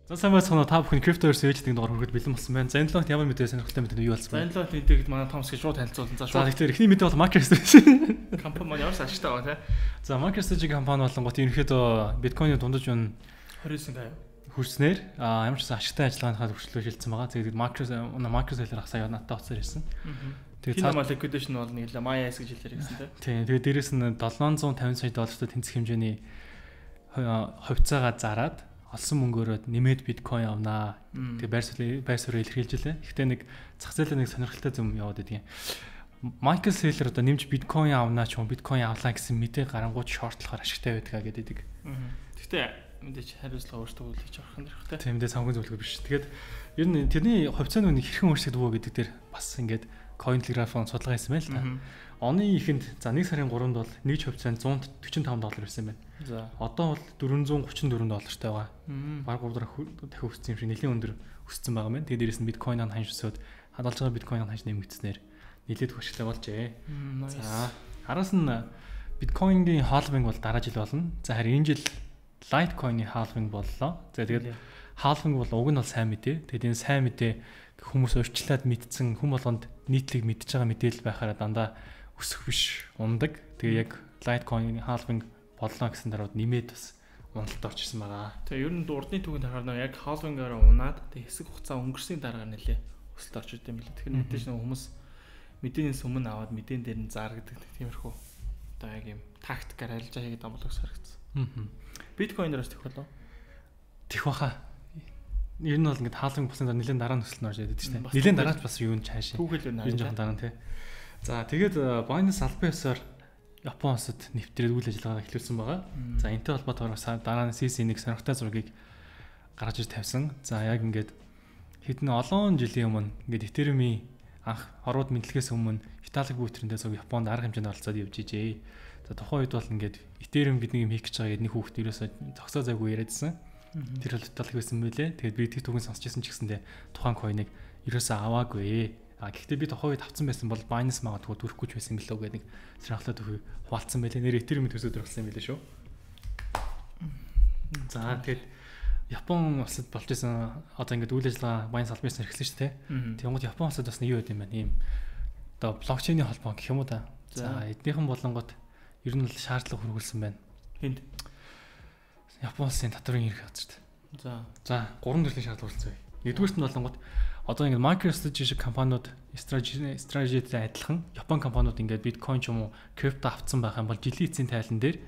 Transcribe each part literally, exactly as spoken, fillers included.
За сайн байцгаана та бүхэн Cryptoverse ээждэг дугаар хүрэхэд бэлэн болсон байна. За энэ логт ямар мэдээ сонирхолтой мэдээ юу болсон бэ? За энэ логт мэдээд манай Томс гэж шууд танилцуулсан. За шууд. За тэгэхээр эхний мэдээ бол MicroStrategy компани маань ямар ашигтай байгаа те. За MicroStrategy компани болонгот ерөнхийдөө биткойны дундаж үн двадцать сая хүрснээр а ямар ч ашигтай ажиллагааныхаа төвчлөө шилжсэн байгаа. Тэгээд MicroStrategy сая надад оцсоор ирсэн. Тэгээд цаана liquidation бол нэг л MyAS гэж хэлээр гэсэн те. Тийм. Тэгээд дээрэс нь seven hundred fifty сая доллартай тэнцэх хэмжээний хувьцаагаа зараад олсон мөнгөөрөө нэмээд биткойн авнаа. Тэгээ байр суурь байр суурь илэрхийлжлээ. Гэхдээ нэг зах зээлийн нэг сонирхолтой юм яваад байдгийн. Michael Saylor одоо нэмж биткойн авнаа ч юм биткойн авлаа гэсэн мэдээ гарангууд шортлохоор ашигтай байдгаа гэдэг. Гэхдээ мэдээч хариуцлага өөртөө үлээж авах нь хэрэгтэй. Тийм дээ санхүү зөвлөгөө биш. Тэгээд ер нь тэрний хувьцааны үнийг хэрхэн өөрчлөгдөв үү гэдэг дээр бас ингээд Cointelegraph-ын судалгаа хийсэн байл та. Оны ихэнд за нэг сарын гуравнд бол нэг хувьцаанд one forty-five доллар байсан байна. За одоо бол four thirty-four доллартай байгаа. Бараг гурав дахин өссөн юм шиг нэлийн өндөр өссөн байгаа мэн. Тэгээд дээрэс нь биткойн ханж өсөөд хадгалж байгаа биткойн ханж нэмэгдснээр нэлээд хөшөлтэй болжээ. За араас нь биткойнгийн халвинг бол дараа жил болно. За харин энэ жил Litecoin-ы халвинг боллоо. За тэгээд халвинг бол уг нь бол сайн мэдээ. Тэгээд энэ сайн мэдээ хүмүүс өөрчлөлт мэдсэн хүм болгонд нийтлэг мэдж байгаа мэдээлэл байхаараа дандаа өсөх биш ундаг. Тэгээ яг Litecoin halving боллоо гэсэн дараад нэмээд бас уналтад орчихсон байгаа. Тэгээ ер нь урдны түүхэнд харахаар яг halving-аараа унаад тэгээ хэсэг хугацаа өнгөрсний дараа нэлээ өсөлт орж идэв юм билээ. Тэгэхээр мэдээж нэг хүмүүс мэдээнээс өмнө аваад мэдээн дээр нь зааргадаг тиймэрхүү одоо яг юм тактикаар арилжаа хийгээд амлах харагдсан. Аа. Биткойнероос тэх болов. Тэх баха. Ер нь бол ингээд халвинг болсон дараа нэлээд дараа нь өсөлт орж идэв тийм. Нэлээд дараач бас юу н чаашаа. Түүхэл юу наа. Дараа нь тий. За тэгээд Binance албан ёсоор Япон улсад нэвтрээд үйл ажиллагаа эхлүүлсэн байгаа. За энэтэй холбоотойгоор дараа нь си си нэг сонирхолтой зургийг гаргаж ир тавьсан. За яг ингээд хэдэн олон жилийн өмнө ингээд Ethereum-ийн анх орууд мэдлэгээс өмнө Vitalik Buterin-тэй зөв Японд арга хэмжээнд оролцоод явж ижээ. За тухайн үед бол ингээд Ethereum бидний юм хийх гэж байгаа гэдэг нэг хүүхэд ерөөсөө зогсоо зайгүй яриадсан. Тэр бол Vitalik байсан мөлий. Тэгээд би тэг түүхэн сонсчихсан ч гэсэндээ тухайн coin-ыг ерөөсөө аваагүй. А гэхдээ би тохоо үед авсан байсан бол Binance магадгүй төрөхгүй ч байсан гэлөө гэдэг нэг сонирхолтой төхөй хуваалцсан байлээ. Нэр Ethereum төсөөд өргөсөн юм байлээ шүү. За тэгээд Япон улсад болж исэн одоо ингээд үйл ажиллагаа Binance албан ёсоор эхэлсэн шүү дээ. Тэгмээд Япон улсад бас нэг юу байд юм байна. Ийм одоо блокчейний холбоо гэх юм уу та. За эднийхэн болонгод ер нь л шаардлага хөрвүүлсэн байна. Хинт Япон улсын татврын эрх газарт. За за гурван төрлийн шаардлага хөрвүүлсэн бай. Нэгдүгээрт нь болонгод одоо ингээд MicroStrategy шиг компаниуд стратегитэй адилхан Япон компаниуд ингээд биткойн ч юм уу крипто авцсан байх юм бол жилийн эцсийн тайлан дээр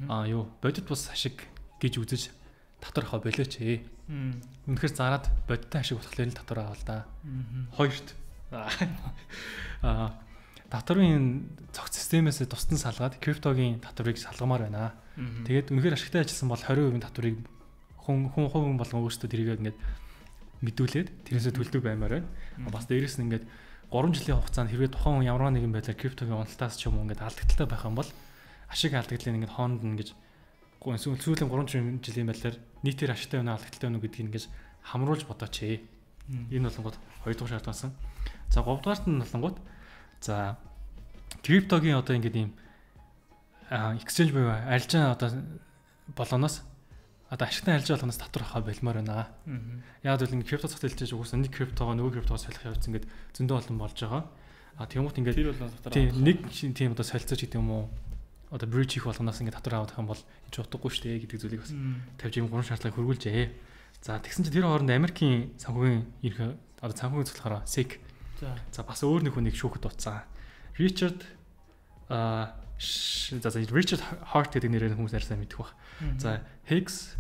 аа юу бодит бус ашиг гэж үзэж татвар авах болооч ээ. Үнэхээр зараад бодиттой ашиг болохоор л татвар аваа л да. Хоёрт аа татварын цогц системээс тусдан салгаад криптогийн татварыг салгамаар байна. Тэгээд үнэхээр ашигтай ажилласан бол twenty percent татварыг хүн хүн хувийн болгон өөрсдөө тэрийг ингээд мэдүүлээд тэрнээсээ төлдөг баймаар байна. Бас дээрэс нь ингээд three жилийн хугацаанд хэрвээ тухайн хүн ямар нэгэн байдлаар криптогийн уналтаас ч юм уу ингээд алдагдaltaй байх юм бол ашиг алдагдлыг ингээд хоонд нь ингэж сүүлийн three жилийн байдлаар нийтээр ашигтай байна алдагдaltaй байна гэдгийг ингэж хамруулж бодооч ээ. Энэ болонгууд хоёр дахь шаард басан. За говь дугаарт нь болонгууд за криптогийн одоо ингээд ийм exchange буюу арилжаа одоо болгоноос одоо ашигтай арилжаа болгоноос татвар авах байлмаар байна. Яг л ингээд крипто зах зээлтэй угсаа нэг криптогоо нөгөө криптогоо солих явц ингээд зөндөө олон болж байгаа. А тэгмут ингээд тийм нэг тийм одоо солилцооч гэдэг юм уу одоо bridge хийх болгоноос ингээд татвар авах юм бол энэ ч утгагүй шүү дээ гэдэг зүйлийг бас тавьж ийм гурван шаардлагыг хөрвүүлжээ. За тэгсэн чинь тэр хооронд Америкийн санхүүгийн эрх одоо санхүүгийн цэцлэхээр S E C. За бас өөр нэг хүнийг шүүхэд утсан. Richard а за Richard Hart гэдэг нэрээр хүмүүс арьсаа мэдэх баг. За Hex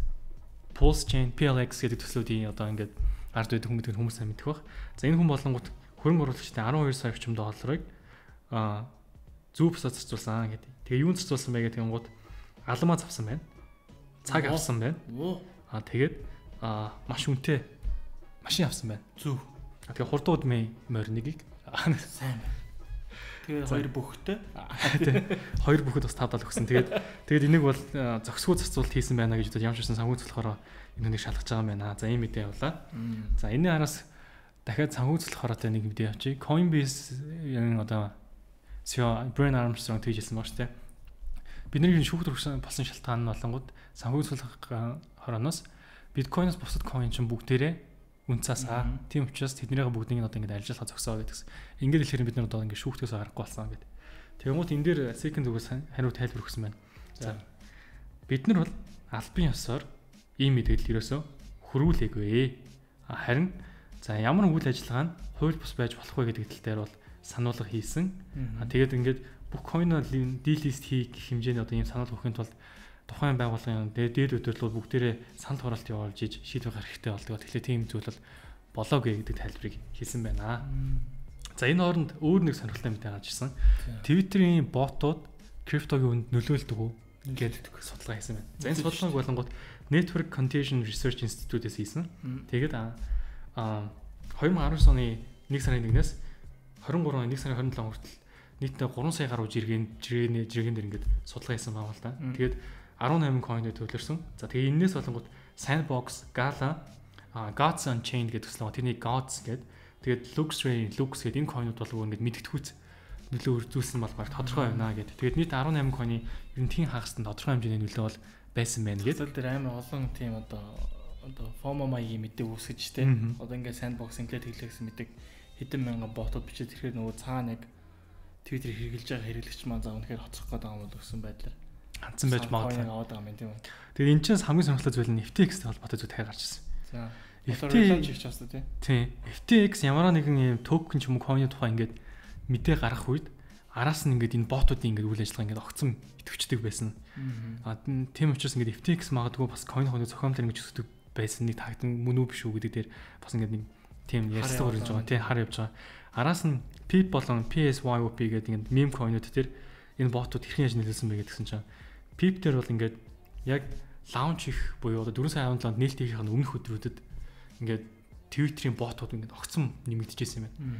Pulse Chain P L X гэдэг төслүүдийн одоо ингээд ард байдаг хүн гэдэг хүмүүс сайн мэдэх баг. За энэ хүн болонгууд хөрөнгө оруулагчдын twelve сая орчим долларыг а зүв бусад зарцуулсан гэдэг. Тэгээ юунд зарцуулсан бэ гэдэг юмгууд алмаа завсан байна. Цаг авсан байна. А тэгээд а маш үнэтэй машин авсан байна. Зүв. Тэгээ хурдууд мэй морнигийг сайн байна. Тэгээ хоёр бүхтэй. Тий. Хоёр бүхэд бас тавдал өгсөн. Тэгээд тэгээд энийг бол зөксгөө зарцуулалт хийсэн байна гэж бодож ямарчсан санхүүц болохоор энэнийг шалгаж байгаа юм байна. За ийм мэдээ явлаа. За энэний араас дахиад санхүүц болохоор одоо нэг мэдээ авчи. Coinbase-ийн одоо си и о Brian Armstrong тэгжилсэн баг шүү дээ. Бидний шүүхт болсон шалтгаан нь болонгууд санхүүц хороноос биткойноос бусад coin чинь бүгдээрээ үн цаасаа. Тийм учраас тэднийгээ бүгдийг нь одоо ингээд ажиллах зогсоо гэдэгс. Ингээд хэлэхээр бид нар одоо ингээд шүүхтээс гарахгүй болсон гэдэг. Тэгмүүд энэ дээр second зүгээс хариу тайлбар өгсөн байна. За бид нар бол албан ёсоор ийм мэдээлэл ерөөсөө хөрвүүлээгүй. Харин за ямар үйл ажиллагаа нь хууль бус байж болох вэ гэдэг тал дээр бол сануулга хийсэн. Тэгээд ингээд бүх coin-оор delist хийх хэмжээний одоо ийм сануулга өгөхийн тулд тухайн байгууллагын дээд удирдлууд бүгдээрээ санал хураалт явуулж иж шийдвэр гаргах хэрэгтэй болдог. Тэгэхээр тийм зүйл бол болоогүй гэдэг тайлбарыг хийсэн байна. За энэ хооронд өөр нэг сонирхолтой мэдээ гарч ирсэн. Twitter-ийн ботууд криптогийн үнд нөлөөлдөг үү гэдэг судалгаа хийсэн байна. За энэ судалгааг болонгууд Network Contagion Research Institute-ээс хийсэн. Тэгээд а two thousand nineteen оны нэг сарын нэгнээс twenty-three оны нэг сарын twenty-seven хүртэл нийтдээ three сая гаруй жиргэн жиргэний жиргэн дээр ингээд судалгаа хийсэн байгаа л да. Тэгээд eighteen coin-ыг төвлөрсөн. За тэгээд энэс болонгууд Sandbox, Gala, Gods Unchained гэдэг төсөл байгаа. Тэрний Gods гэдэг. Тэгээд Luxray, Lux гэдэг энэ coin-ууд бол ингээд мэдгэдэггүйц нөлөө үзүүлсэн болмаар тодорхой байна гэдэг. Тэгээд нийт eighteen coin-ы ер нь тийм хагастай тодорхой хэмжээний нөлөө бол байсан байна гэдэг. Тэр амар олон тийм одоо одоо FOMO маягийн мэдээ үүсгэж штэ. Одоо ингээд Sandbox ингээд тэглэхсэн мэдээ хэдэн мянган ботууд бичиж ирэхээр нөгөө цаана яг Twitter хэрэгжилж байгаа хэрэглэгч маань заа үнэхээр хоцрох гэдэг юм бол өссөн байдлаар хандсан байж магадгүй. аваад байгаа юм тийм үү. Тэгээд энэ чинь хамгийн сонирхолтой зүйл нь эф ти экс-тэй холбоотой зүйл тайгарч ирсэн. За. эф ти экс хийх чаастай тий. Тийм. эф ти экс ямар нэгэн юм токен ч юм уу coin-ы тухай ингээд мэдээ гарах үед араас нь ингээд энэ ботуудын ингээд үйл ажиллагаа ингээд огцом идэвхждэг байсан. Аа тийм учраас ингээд эф ти экс магадгүй бас coin coin зохиомжтой ингэж өсдөг байсан нэг тагдан мөн үү биш үү гэдэг дээр бас ингээд нэг тийм ярьцлага өрнөж байгаа. Тийм хар явж байгаа. Араас нь Pip болон пи эс вай о пи гэдэг ингээд meme coin-ууд дээр энэ ботууд хэрхэн яаж нөлөөлсөн бэ гэдгсэн чинь Pip дээр бол ингээд яг launch их буюу одоо four сая five нээлт хийхин өмнөх өдрүүдэд ингээд Twitter-ийн ботууд ингээд огцом нэмэгдэжсэн юм байна.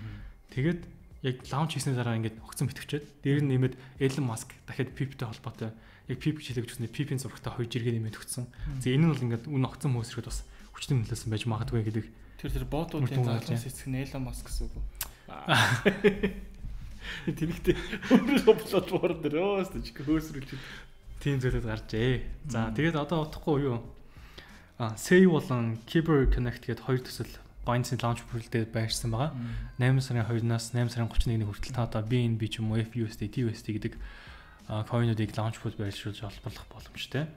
Тэгээд яг launch хийсний дараа ингээд огцом итгэвчээд дээр нь нэмээд Elon Musk дахиад Pip-тэй холбоотой яг Pip хичээлэг жүснэ Pip-ийн зурагтай хоёр жиргээ нэмээд өгсөн. За энэ нь бол ингээд үн огцом хөөсрөхөд бас хүчтэй нөлөөсөн байж магадгүй гэдэг. Тэр тэр ботуудын заалаас эцэг нь Elon Musk гэсэн үг. Тэрэгтэй өөрийнхөө платформ дээр өөс ч хөөсрүүлж тийм зүйлүүд гарчээ. За тэгээд одоо утахгүй юу? А Say болон Kyber Connect гэдэг хоёр төсөл Binance-ийн launch pool-дээр байршсан байгаа. eight сарын two-наас eight сарын thirty-one-ны хүртэл та одоо би эн би ч юм уу эф ю эс ди, ти ю эс ди гэдэг coin-уудыг launch pool байршуулж олборлох боломжтой.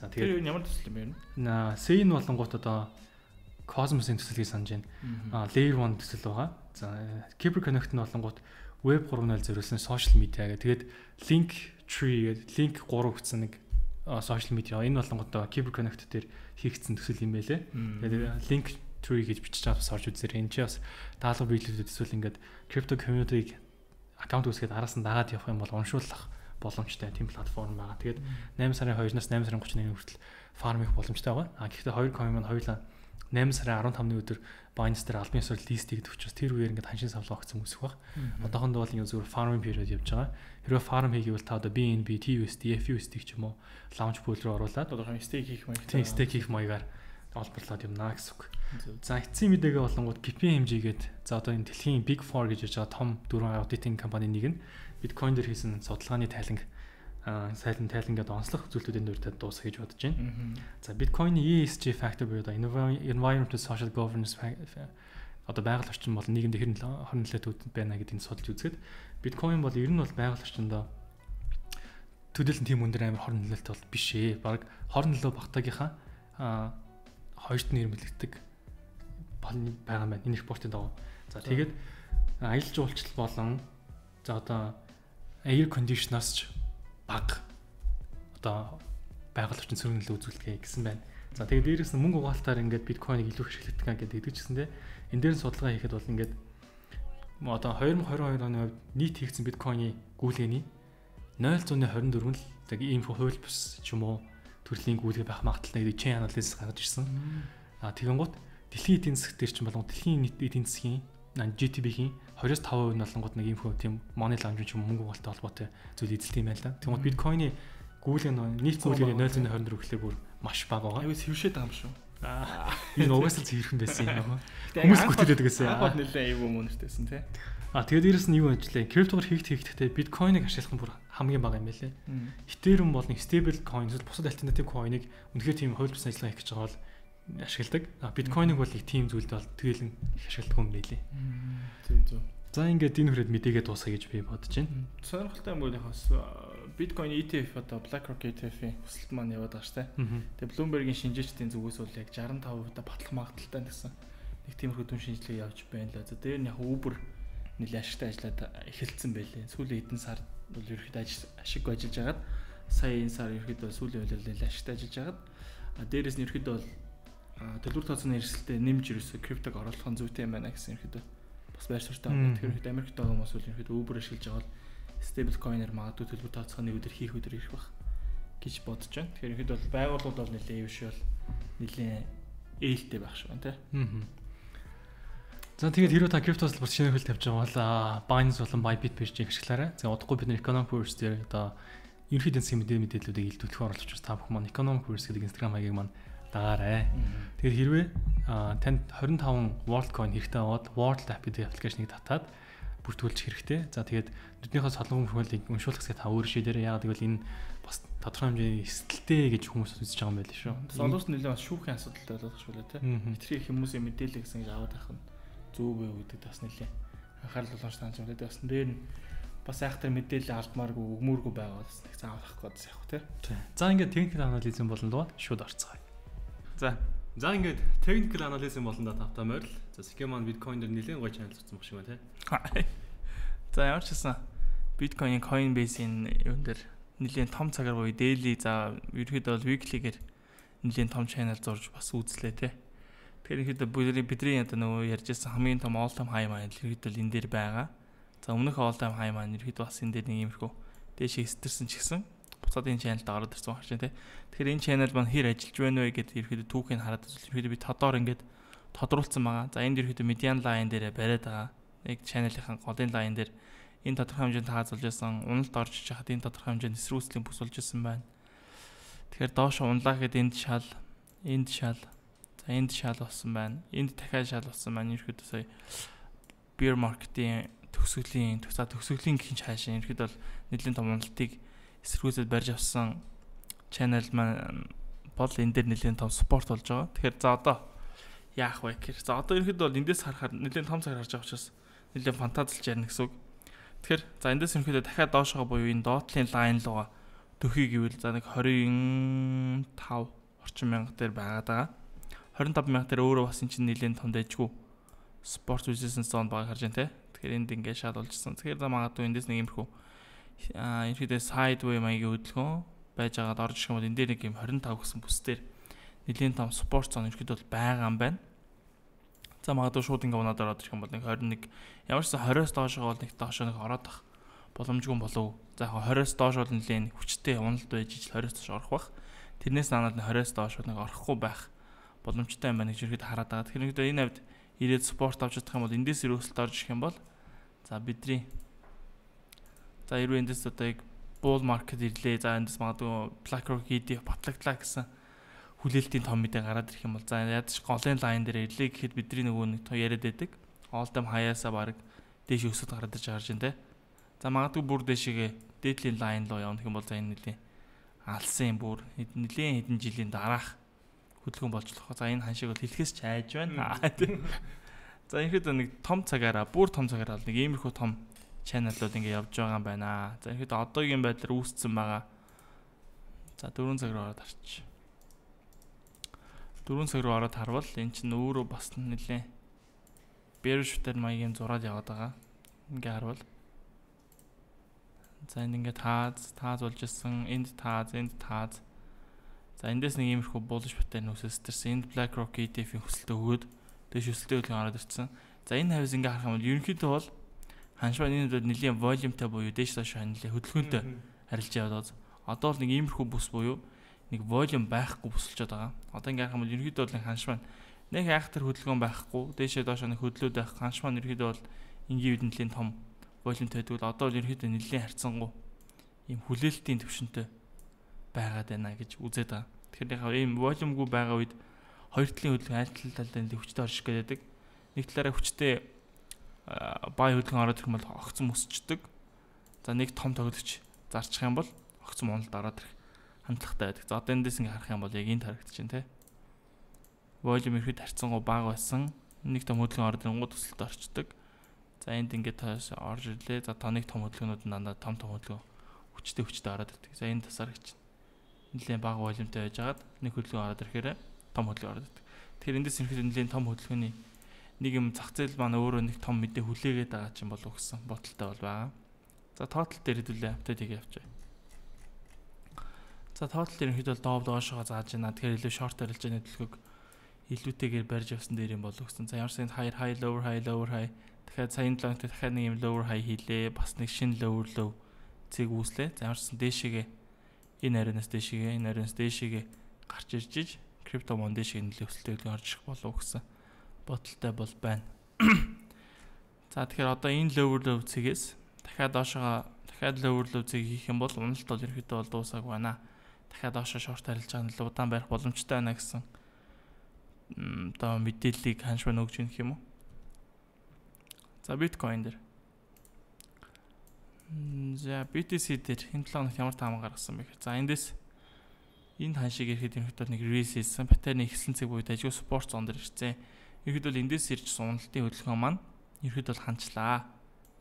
За тэгээд ямар төсөл юм бэ? На Say нь болонгууд одоо Cosmos-ийн төсөлийг санаж байна. А Layer one төсөл байгаа. За Kyber Connect нь болонгууд Web three point zero зориулсан social media гэдэг. Тэгээд Link Tree гэдэг Link three гэсэн нэг social media. Энэ болонгууд Kyber Connect дээр хийгдсэн төсөл юм байлээ. Тэгээд Link Tree гэж бичиж байгаа бас орж үзээрэй. Энэ ч бас даалгавар биелүүлээд эсвэл ингээд crypto community-г аккаунт үүсгээд араас нь дагаад явах юм бол уншуулах боломжтой тийм платформ байгаа. Тэгээд eight сарын two-наас eight сарын thirty-one-ны хүртэл farm хийх боломжтой байгаа. А гэхдээ хоёр coin маань хоёулаа eight сарын fifteen-ны өдөр Binance дээр албан ёсоор лист хийгдэх учраас тэр үеэр ингээд ханшийн савлаа огцом үсэх баг. Одоохондоо бол ингээд зүгээр farming period явж байгаа. Хэрвээ farm хийгээвэл та одоо би эн би, ти ю эс ди, эф ю эс ди ч юм уу launch pool руу оруулаад одоохондоо stake хийх маягаар тийм stake хийх маягаар олборлоод юмнаа гэсэн үг. За эцсийн мэдээгээ болонгууд пи пи эм жи гээд за одоо энэ дэлхийн Big Four гэж ярьж байгаа том дөрвөн аудитинг компани нэг нь биткойн дээр хийсэн судалгааны тайланг сайлан тайлан гэдэг онцлог зүйлүүдийн дүртэй дуусах гэж бодож байна. За биткойны и эс джи factor буюу одоо environmental social governance одоо байгаль орчин бол нийгэмд хэрнээ хорон нөлөөтэй байна гэдгийг судалж үзэхэд биткойн бол ер нь бол байгаль орчиндөө төдийлөн тийм өндөр амар хорон нөлөөтэй бол биш ээ. Бараг хорон нөлөө багтаагийнхаа хоёрт нь нэрмэлэгдэг байгаа юм байна. Энэ репортын дагуу. За тэгээд аялал жуулчлал болон за одоо air conditioner-аас ч баг одоо байгаль орчин сөрөг нөлөө үзүүлдэг гэсэн байна. За тэгээд дээрээс нь мөнгө угаалтаар ингээд биткойныг илүү хэрэглэдэг гэдэг гэдэгчсэндээ энэ дээр нь судалгаа хийхэд бол ингээд одоо twenty twenty-two оны хувьд нийт хийгдсэн биткойны гүйлгээний zero point two four нь л яг ийм хууль бус ч юм уу төрлийн гүйлгээ байх магадaltaй гэдэг chain analysis гаргаж ирсэн. А тэгэнгუთ дэлхийн эдийн засаг дээр ч болон дэлхийн нийт эдийн засгийн джи ди пи-ийн twenty-five percent нь болонгууд нэг ийм хөө тийм money laundering ч юм мөнгө угаалтай холбоотой зүйл эзэлт юм байна л да. Тэгмээд биткойны гүйлгээ нийт гүйлгээний zero point two four гэхлээр бүр маш бага байгаа. Аюу сэвшээд байгаа юм шүү. Аа энэ угаасаа зөвхөн байсан юм аа. Хүмүүс бүтээдэг гэсэн. Ахад нэлээ аюу мөнөртэйсэн тий. А тэгээд дээрэс нь юу ажиллаа? Криптогоор хийгт хийгдэхдээ биткойныг ашиглах нь бүр хамгийн бага юм байлээ. Ethereum бол нэг stable coin эсвэл бусад альтернатив coin-ыг үнэхээр тийм хууль бус ажиллагаа хийх гэж байгаа бол ашигладаг. Биткойныг бол их тийм зүйлд бол тгийлэн их ашигладаг юм байлээ. Зөв зөв. За ингээд энэ хүрээд мэдээгээ дуусгая гэж би бодож байна. Сонирхолтой юм бол хас биткойн и ти эф одоо BlackRock и ти эф-ийн өсөлт маань яваад байгаа шүү дээ. Тэгээ Bloomberg-ийн шинжээчдийн зүгээс бол яг шестдесят five percent батлах магадaltaй гэсэн нэг тиймэрхүү дүн шинжилгээ явж байна л. За дээр нь яг Uber нэлээд ашигтай ажиллаад эхэлсэн байлээ. Сүүлийн хэдэн сар бол ерөөхдөө ашиг ажиллаж байгаад сая энэ сар ерөөхдөө сүүлийн үеэр нэлээд ашигтай ажиллаж байгаад а дээрээс нь ерөөхдөө бол төлбөр тооцооны эрсдэлтэй нэмж ерөөсө криптог оруулах нь зүйтэй юм байна гэсэн ерөөхдөө бас байр суурьтай байна. Тэгэхээр Америкт байгаа хүмүүс бол ерөөхдөө Uber ашиглаж байгаа бол стейбл койноор магадгүй төлбөр тооцооны өдөр хийх өдөр ирэх бах гэж бодож байна. Тэгэхээр ерөөхдөө бол байгууллагууд бол нэлээд юм шиг бол нэлээд ээлтэй байх шүү тий. Аа. За тэгээд хэрвээ та криптос бүр шинэ хөл тавьж байгаа бол Binance болон Bybit биржийг ашиглаарай. За удахгүй бид нэр Economic Course дээр одоо ерөнхийдөө эцсийн мэдээ мэдээллүүдийг илтгэх оруулж учраас та бүхэн маань Economic Course гэдэг Instagram хаягийг маань дагаарай. Тэгээд хэрвээ танд twenty-five WorldCoin хэрэгтэй аваад World App гэдэг аппликейшнийг татаад бүртгүүлж хэрэгтэй. За тэгээд нүднийхээ солонгон хөлийг уншуулах хэсгээ та өөрөө шийдээрэй. Яагаад гэвэл энэ бас тодорхой хэмжээний эсэлттэй гэж хүмүүс үзэж байгаа юм байл шүү. Солонгос нэлээд бас шүүхийн асуудалтай болдог шүү лээ тий. Хитрхи хүмүүсийн мэдээлэл гэсэн гэж аваад авах нь зөв вэ гэдэг бас нэлээ анхаарал болгож тааж байна. Тэгээд бас дээр нь бас айхтар мэдээлэл алдмааргүй өгмөөргүй байгаа бас нэг заавал авах гэдээс явах тий. За ингээд техникэл анализм болон доо шууд орцгоё. За за ингээд техникэл анализм болон доо тавтаа морил. За схем маань биткойн дээр нэлээд гоё чанал зурсан баг шиг байна тий. За ямар ч гэсэн биткойн Coinbase-ийн юун дээр нэлээд том цагаар буюу daily за ерөөхдөө бол weekly-гээр нэлээд том channel зурж бас үзлээ тий. Тэгэхээр ихэд бидний одоо нөгөө ярьжсэн хамгийн том all time high маань ерөөхдөө энэ дээр байгаа. За өмнөх all time high маань ерөөхдөө бас энэ дээр нэг иймэрхүү дээшээ эсдэрсэн ч гэсэн буцаад энэ channel дээр ороод ирсэн байна тий. Тэгэхээр энэ channel маань хэр ажиллаж байна вэ гэдээ ерөөхдөө түүхийг хараад ерөөхдөө би тодоор ингээд тодруулсан байгаа. За энд ерөөхдөө median line дээр бариад байгаа. Нэг channel-ийн голын line дээр энэ тодорхой хэмжээнд хаазуулж байсан, уналт орж иж хахад энэ тодорхой хэмжээнд эсрүүцлийн бүс болж исэн байна. Тэгэхээр доош унлаа гэхэд энд шал, энд шал, за энд шал болсон байна. Энд дахиад шал болсон байна. Ерөөхдөө сая bear market-ийн төгсгөлийн, за төгсгөлийн гэх хаашаа ерөөхдөө бол нэлийн том уналтыг эсрүүцэд барьж авсан channel маань бол энэ дээр нэлийн том спорт болж байгаа. Тэгэхээр за одоо яах вэ гэхээр за одоо ерөөхдөө бол эндээс харахаар нэлийн том цагаар харж байгаа учраас нэлийн фантазилж ярина гэсэн үг. Тэгэхээр за эндээс ерөөхдөө дахиад доошоо буюу энэ доотлын лайн руугаа төхий гэвэл за нэг twenty-five орчим мянга дээр байгаад байгаа. twenty-five мянга дээр өөрөө бас эн чинь нэлийн том дэжгүй спорт үзсэн зон байгааг харж байна те. Тэгэхээр энд ингээд шал болжсэн. Тэгэхээр за магадгүй эндээс нэг юмрхүү аа ерөөхдөө sideway маягийн хөдөлгөөн байж байгаад орж ирэх юм бол энэ дээр нэг юм twenty-five гэсэн бүсдэр нэлийн том спорт зон ерөөхдөө бол байгаа юм байна. За магадгүй шууд ингээ унаад ороод ирэх юм бол нэг twenty-one ямар ч twenty-оос доошоо бол нэг доошоо нэг ороод ах боломжгүй болов. За яг twenty-оос доош бол нэлээд хүчтэй уналт байж ижил twenty-оос доош орох бах. Тэрнээс наанад twenty-оос доош нэг орохгүй байх боломжтой юм байна гэж ерөөд хараад байгаа. Тэгэхээр энэ хавьд ирээд спорт авч чадах юм бол эндээс өрөөсөлт орж ирэх юм бол за бидний за хэрвээ эндээс одоо яг bull market ирлээ. За эндээс магадгүй BlackRock и ти эф батлагдлаа гэсэн хүлээлтийн том мэдээ гараад ирэх юм бол за ядч голын лайн дээр ирлээ гэхэд бидний нөгөө нэг яриад байдаг. All time high-аас баг дээш өсөд гараад ирж байгаа юм те. За магадгүй бүр дээшээ дээдлийн лайн руу явах юм бол за энэ нэлийн алсын бүр нэлийн хэдэн жилийн дараах хөдөлгөөн болж болох. За энэ ханшиг бол хэлхээс ч айж байна. За ихэд нэг том цагаараа бүр том цагаараа нэг иймэрхүү том чаналууд ингэ явж байгаа юм байна. За ихэд одоогийн байдлаар үүссэн байгаа. За four цаг руу ороод харчих. four цаг руу ороод харвал эн чинь өөрөө бас нэлээ bearish-тэй маягийн зураад яваад байгаа. Ингээ харвал за энэ ингээ тааз тааз болж исэн, энд тааз, энд тааз. За эндээс нэг иймэрхүү bullish pattern үүсэстэрсэн. Энд BlackRock и ти эф-ийн хөсөлтөө өгөөд дээш өсөлтөө хөдөлгөөн ороод ирсэн. За энэ хавьс ингээ харах юм бол ерөнхийдөө бол ханшваа энэ дэд нэлийн volumeтай буюу дээш доош ханилаа хөдөлгөөнтэй харилж яваад одоо бол нэг иймэрхүү бүс буюу нэг volume байхгүй бүсэлж байгаа. Одоо ингээ харах юм бол ерөнхийдөө бол нэг ханшваа нэг айхтар хөдөлгөөн байхгүй дээшээ доош нэг хөдлөөд байх ханшваа ерөнхийдөө бол энгийн үед нэлийн том volumeтай гэдэг бол одоо бол ерөнхийдөө нэлийн харьцангуй ийм хүлээлтийн төвшөнтэй байгаад байна гэж үзээд байгаа. Тэгэхээр яг ийм volumeгүй байгаа үед хоёр талын хөдөлгөөн аль талдаа нэг хүчтэй орж ирэх гэдэг. Нэг талаараа хүчтэй бай хөдөлгөөн ороод ирэх юм бол огцом өсчдөг. За нэг том тоглогч зарчих юм бол огцом уналд ороод ирэх хандлагатай байдаг. За одоо эндээс ингээ харах юм бол яг энэ харагдаж байна те. volume ихэд харьцангуй бага байсан. Нэг том хөдөлгөөн ороод ирэнгүүт төсөлд орчдөг. За энд ингээд тоос орж ирлээ. За тоног том хөдөлгөөнүүд нь дандаа том том хөдөлгөөн хүчтэй хүчтэй ороод ирдэг. За энэ тасаар гэж нэлээд бага волюмтай байжгаад нэг хөдөлгөөн ороод ирэхээр том хөдөлгөөн ороод ирдэг. Тэгэхээр эндээс ерөнхийдөө нэлээд том хөдөлгөөний нэг юм зах зээл маань өөрөө нэг том мэдээ хүлээгээд байгаа ч юм болов гэсэн бодолтой бол байгаа. За total дээр хэдүүлээ апдейтийг явуулъя. За total дээр ерөнхийдөө дооb доошоо зааж байна. Тэгэхээр илүү short арилж байгаа төлөвлөгөөг илүүтэйгээр барьж явсан дээр юм болов гэсэн. За ямар ч high high lower high lower high дахиад саяны лонт дахиад нэг юм lower high хийлээ. Бас нэг шинэ lower low цэг үүслээ. За ямар ч дээшээгээ энэ ариунаас дээшээгээ энэ ариунаас дээшээгээ гарч ирж иж крипто мон дээшээ нэлээд өсөлттэй орж ирэх болов гэсэн бодолтой бол байна. За тэгэхээр одоо энэ lower low цэгээс дахиад доошоо дахиад lower low цэг хийх юм бол уналт бол ерөөдөө бол дуусаагүй байна. Дахиад доошоо short арилж байгаа нь л удаан барих боломжтой байна гэсэн одоо мэдээллийг ханшваа нөгж гэх юм уу. За биткойн дээр. За би ти си дээр энэ талаар ямар таамаг гаргасан бэ гэхээр за эндээс энэ ханшиг ирэхэд ерөнхийдөө нэг релиз хийсэн паттерны ихсэн цэг буюу дажгүй спорт зон дээр ирсэн. Ерөнхийдөө эндээс ирж уналтын хөдөлгөөн маань ерөнхийдөө ханчлаа.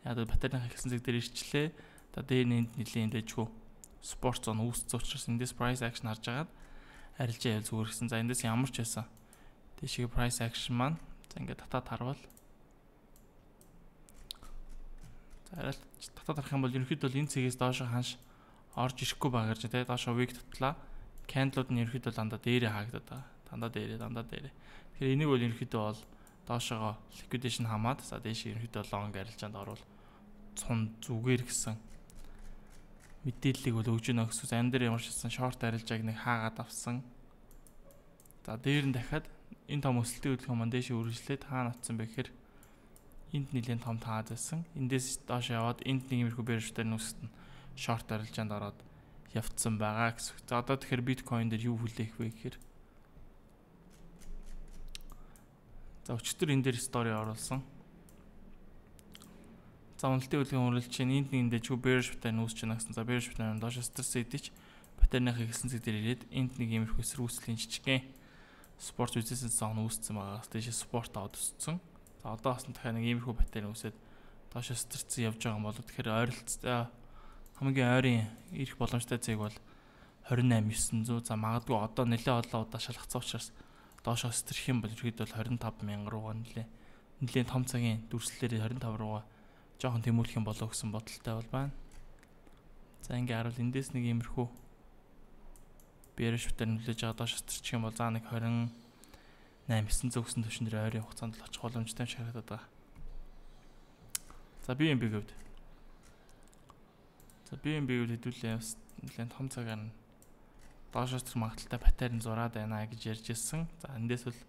Яг л паттерны ихсэн цэг дээр ирчлээ. За дээр нь нэлийн дажгүй спорт зон үүссэн учраас эндээс price action харж агаад арилжаа ял зүгээр гэсэн. За эндээс ямар ч байсан тийшээ price action маань за ингээд татаад харвал за арай татаад харах юм бол ерөнхийдөө энэ цэгээс доошо ханш орж ирэхгүй байгаа гэж тий доошо week татлаа candle-ууд нь ерөнхийдөө дандаа дээрээ хаагдаад байгаа. Дандаа дээрээ дандаа дээрээ. Тэгэхээр энийг бол ерөнхийдөө бол доошоо liquidation хамаад за дээш ерөнхийдөө long арилжаанд орвол цун зүгээр гэсэн мэдээллийг бол өгж өгнө гэсэн. Ан дээр ямар ч хэлсэн short арилжааг нэг хаагаад авсан. За дээр нь дахиад энэ том өсөлтийн хөдөлгөөн маань дээш үргэлжлээд хаана утсан бэ гэхээр энд нэлийн том таад байсан. Эндээс доош яваад энд нэг юмрхүү бэрштэй нүсэт нь short арилжаанд ороод явцсан байгаа гэсэн. За одоо тэгэхээр биткойн дээр юу хүлээх вэ гэхээр за өчтөр энэ дээр стори оруулсан. За уналтын хөдөлгөөн үргэлж чинь энд нэгэндээ чүү bearish pattern үүсэж байна гэсэн. За bearish pattern доош стресс идэж паттерныхаа хэлсэн зэг дээр ирээд энд нэг юмрхүү эсрүүслийн жижигхэн спорт үзсэн зон үүссэн байгаа. Тийш спорт аваад өссөн. За одоо бас дахиад нэг иймэрхүү паттерн үүсээд доош стрцэн явж байгаа юм болоо. Тэгэхээр ойролцоо хамгийн ойрын ирэх боломжтой цэг бол двадцать восемь thousand nine hundred. За магадгүй одоо нэлээд олон удаа шалгацсан учраас доошоо стрэх юм бол ихэд бол двадцать five thousand руугаа нэлээд нэлээд том цагийн дүрслэлээр двадцать five руугаа жоохон тэмүүлэх юм болоо гэсэн бодолтой бол байна. За ингээ харуул эндээс нэг иймэрхүү bearish pattern нөлөөж байгаа доош стрчих юм бол заа нэг двадцать восемь thousand нine hundred төвшин дээр ойрын хугацаанд л очих боломжтой юм шиг харагдаад байгаа. За би эм би гэвд. За би эм би гэвд хэдүүлээ бас нэлээд том цагаар нь доош стрэх магадaltaй паттерн зураад байна гэж ярьж ирсэн. За эндээс бол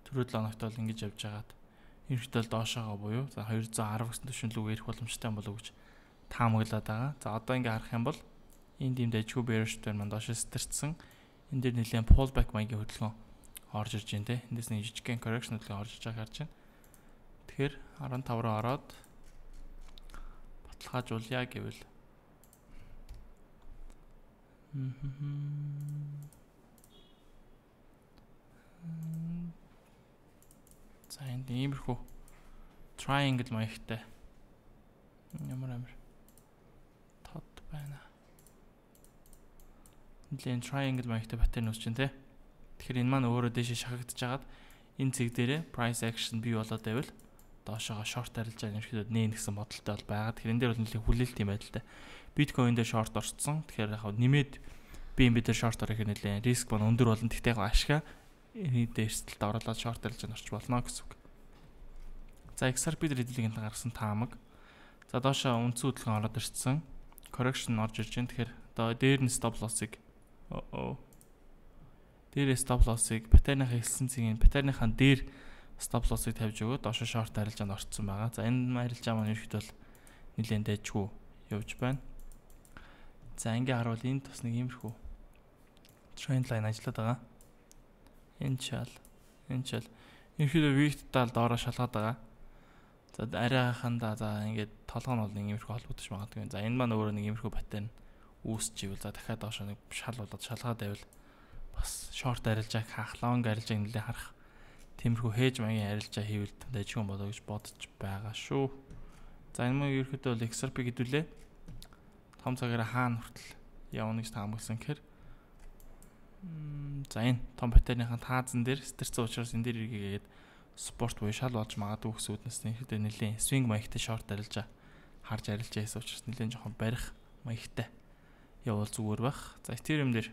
түрүү долоо хоногт бол ингэж явж байгаад ерөнхийдөө доошоогоо буюу за two hundred ten гэсэн төвшин рүү ирэх боломжтой юм болов уу гэж таамаглаад байгаа. За одоо ингээ харах юм бол энд ийм дайггүй bearish pattern маань доош стрцсэн. Энд дээр нэлээд pullback маягийн хөдөлгөөн орж ирж байна те. Эндээс нэг жижигхэн correction хөдөлгөөн орж иж байгааг харж байна. Тэгэхээр fifteen руу ороод баталгаажуулъя гэвэл за энд иймэрхүү triangle маягтай ямар амар тод байна. Нэлээд triangle маягтай паттерн үүсэж байна те. Тэгэхээр энэ маань өөрөө дэше шахагдж хагаад энэ цэг дээрээ price action бий болоод байвал доошоогоо short арилж байгаа юм шиг нээн гэсэн бодолтой бол байгаа. Тэгэхээр энэ дээр бол нэлээд хүлээлт юм байдалтай. Биткойн дээр short орцсон. Тэгэхээр яг нэмээд би энэ дээр short орох нэлээд риск бон өндөр болно. Тэгтээ яг ашгаа энэ дээр эрсдэлд оруулаад short арилж орч болно гэсэн үг. За икс ар пи дээр хэдүүлгийн гаргасан таамаг. За доошоо үндсэн хөдөлгөөн ороод ирсэн. Correction орж ирж байна. Тэгэхээр одоо дээр нь stop loss-ыг оо дээр stop loss-ыг паттерныхаа хэлсэн цэгийн паттерныхаа дээр stop loss-ыг тавьж өгөө доошоо short арилжаанд орцсон байгаа. За энэ арилжаа маань ерөөхдөө бол нэлээд дайжгүй явж байна. За ингээ харуул энд бас нэг иймэрхүү trend line ажиллаад байгаа. Энэ чал энэ чал ерөөхдөө week-тал доороо шалгаад байгаа. За арайхандаа за ингээд толгой нь бол нэг иймэрхүү холбогдож магадгүй. За энэ маань өөрөө нэг иймэрхүү паттерн үүсч ивэл за дахиад доошоо нэг шал болоод шалгаад байвал бас short арилжааг хаах, long арилжааг нэлээд харах Тиймэрхүү хээж маягийн арилжаа хийвэл дэжгүй болоо гэж бодож байгаа шүү. За энэ мөн ерөөхдөө бол икс ар пи гэдүүлээ. Том цагаараа хаана хүртэл явна гэж таамагласан гэхээр за энэ том батарейныхаа таазан дээр стэрсэн учраас энэ дээр эргээгээд спорт буюу шал болж магадгүй гэсэн үднэс ерөөхдөө нэлийн свинг маягтай шорт арилжаа харж арилжаа хийсэн учраас нэлийн жоохон барих маягтай явал зүгээр байх. За Ethereum дээр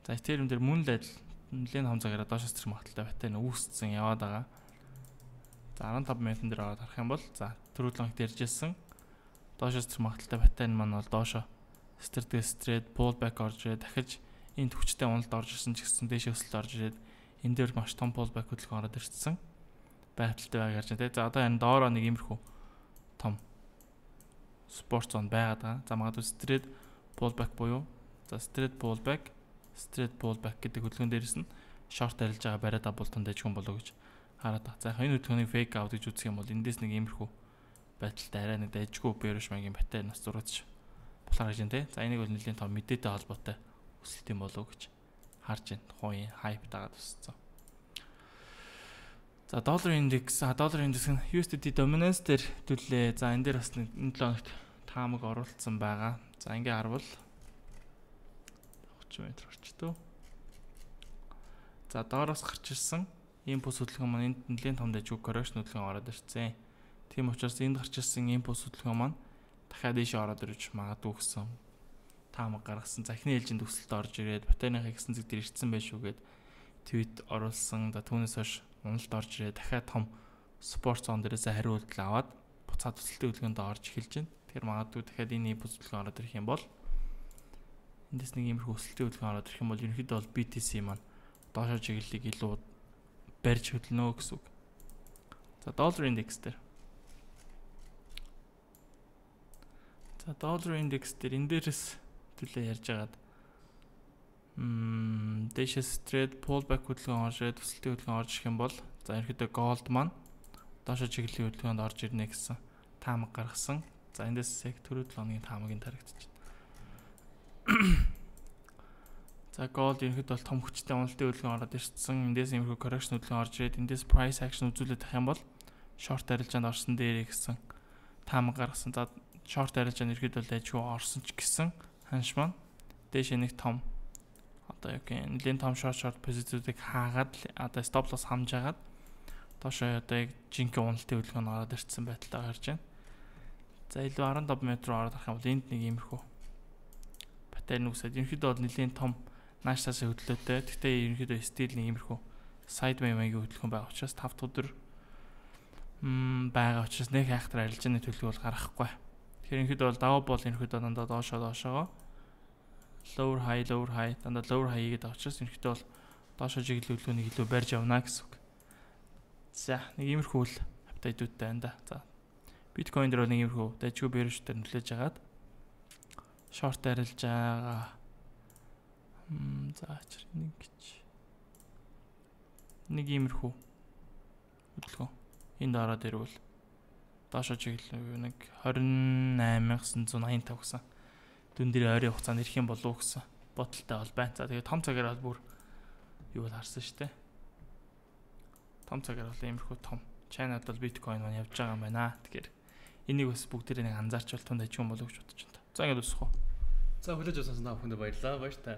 За Ethereum дээр мөн л адил нэлийн том цагаараа доош стрим магадaltaй батарей үүссэн яваад байгаа. За арван таван минутын дээр ороод харах юм бол за түрүүлэн дэржсэн доош стрим магадaltaй батарей маань бол доошо стрээд стрээд pullback орж ирээд дахиж энэ төвчтэй уналд орж ирсэн ч гэсэн дээш өсөлт орж ирээд энэ дээр маш том pullback хөдөлгөөн ороод ирсэн байдалтай байг харж байна. За одоо энэ доороо нэг иймэрхүү том спорт зон байгаад байгаа. За магадгүй стрээд pullback буюу за стрээд pullback straight pullback гэдэг хөдөлгөөн дээрээс нь short арилж байгаа бариад абуултанд дэжгүн болоо гэж хараад байгаа. За энэ хөдөлгөөнийг fake out гэж үзэх юм бол эндээс нэг иймэрхүү байдалтай арай нэг дэжгүй bearish магийн батарей нас зураач болохоор гэж байна те. За энийг бол нэлийн том мэдээтэй холбоотой өсөлт юм болоо гэж харж байна. Тухайн hype дагаад өссөн. За доллар индекс, а доллар индекс нь ю эс ди ти dominance дээр төлөө. За энэ дээр бас нэг энэ долоо хоногт таамаг оруулсан байгаа. За ингээ харвал метр орчтөө. За доороос гарч ирсэн импульс хөдөлгөөн маань энд нэлийн том дэжгүй correction хөдөлгөөн ороод ирсэн. Тийм учраас энд гарч ирсэн импульс хөдөлгөөн маань дахиад ийшээ ороод ирж магадгүй гэсэн таамаг гаргасан. За эхний ээлжинд өсөлт орж ирээд батарейныхаа ихсэн зэг дээр ирсэн байх шүүгээд твит оруулсан. За түүнээс хойш уналд орж ирээд дахиад том спорт зон дээрээс хариу үйлдэл аваад буцаад өсөлтийн хөдөлгөөнд орж эхэлж байна. Тэгэхээр магадгүй дахиад энэ импульс хөдөлгөөн ороод ирэх юм бол эндээс нэг иймэрхүү өсөлтийн хөдөлгөөн ороод ирэх юм бол ерөнхийдөө бол би ти си маань доошо чиглэлийг илүү барьж хөдлөнө гэсэн үг. За доллар индекс дээр. За доллар индекс дээр энэ дээрээс төлөө ярьж агаад мм дэшэс трейд pullback хөдөлгөөн орж ирээд өсөлтийн хөдөлгөөн орж ирэх юм бол за ерөнхийдөө gold маань доошо чиглэлийн хөдөлгөөнд орж ирнэ гэсэн таамаг гаргасан. За эндээс яг түрүү долоо хоногийн таамагийн тарагдчих. За gold ерөнхийдөө бол том хүчтэй уналтын хөдөлгөөн ороод ирсэн. Эндээс иймэрхүү correction хөдөлгөөн орж ирээд эндээс price action үзүүлээд авах юм бол short арилжаанд орсон дээр гэсэн таамаг гаргасан. За short арилжаанд ерөнхийдөө л ажгүй орсон ч гэсэн ханш маань дээш нэг том одоо яг нэлийн том short short позиционыг хаагаад одоо stop loss хамжаагаад доошоо одоо яг жинхэнэ уналтын хөдөлгөөн ороод ирсэн байдалтай гарч байна. За илүү арван таван метр ороод харах юм бол энд нэг иймэрхүү батарей нүсэд ерөнхийдөө бол нэлийн том нааштай хөдлөөтэй. Гэхдээ ерөнхийдөө стил нэг иймэрхүү sideways маягийн хөдөлгөөн байгаа учраас тав дахь өдөр м байгаа учраас нэг хайхтар арилжааны төлөв бол гарахгүй. Тэгэхээр ерөнхийдөө бол даваа бол ерөнхийдөө дандаа доошоо доошоо lower high lower high дандаа lower high гэдэг учраас ерөнхийдөө бол доошоо чиглэл хөдөлгөөнийг илүү барьж явна гэсэн үг. За нэг иймэрхүү л апдейтуудтай байна да. За биткойн дээр бол нэг иймэрхүү дэжгүй bearish дээр нөлөөж агаад short арилж байгаа. Мм за чир нэг гэж. Нэг иймэрхүү хөдөлгөөн. Энд ороод ирвэл доошоо чиглэл нэг двадцать восемь восемьдесят пять гэсэн. Дүн дээр ойрын хугацаанд ирэх юм болов уу гэсэн бодолтой бол байна. За тэгээд том цагаар бол бүр юу бол харсан шүү дээ. Том цагаар бол иймэрхүү том China-д бол биткойн маань явж байгаа юм байна. Тэгэхээр энийг бас бүгдээрээ нэг анзаарч бол тунд ажиг юм болов уу гэж бодож байна. За ингээд үсэх үү. За хүлээж авсан та бүхэнд баярлалаа. Баяр та.